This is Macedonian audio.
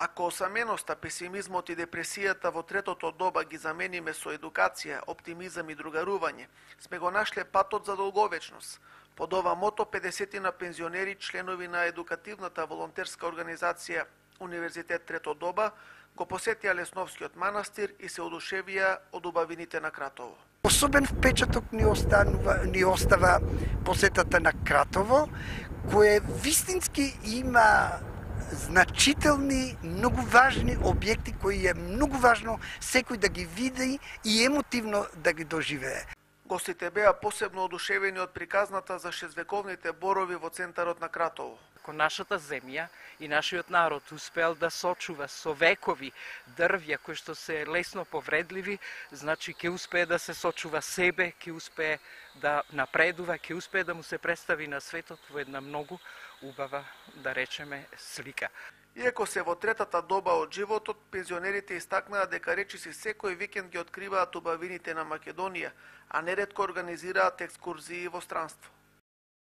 Ако осаменоста, песимизмот и депресијата во третото доба ги замениме со едукација, оптимизам и другарување, сме го нашле патот за долговечност. Под ова мото 50 на пензионери, членови на едукативната волонтерска организација Универзитет Трето доба, го посетија Лесновскиот манастир и се одушевија од убавините на Кратово. Особен впечаток ни остава посетата на Кратово, кое вистински има значителни, многу важни објекти кои е многу важно секој да ги види и емотивно да ги доживее. Гостите беа посебно одушевени од приказната за шезвековните борови во центарот на Кратово. Ако нашата земја и нашиот народ успел да сочува со векови дрвја кои што се лесно повредливи, значи ќе успее да се сочува себе, ќе успее да напредува, ќе успее да му се представи на светот во една многу убава, да речеме, слика. Иако се во третата доба од животот, пензионерите истакнаа дека речиси секој викенд ги откриваат убавините на Македонија, а неретко организираат екскурзии во странство.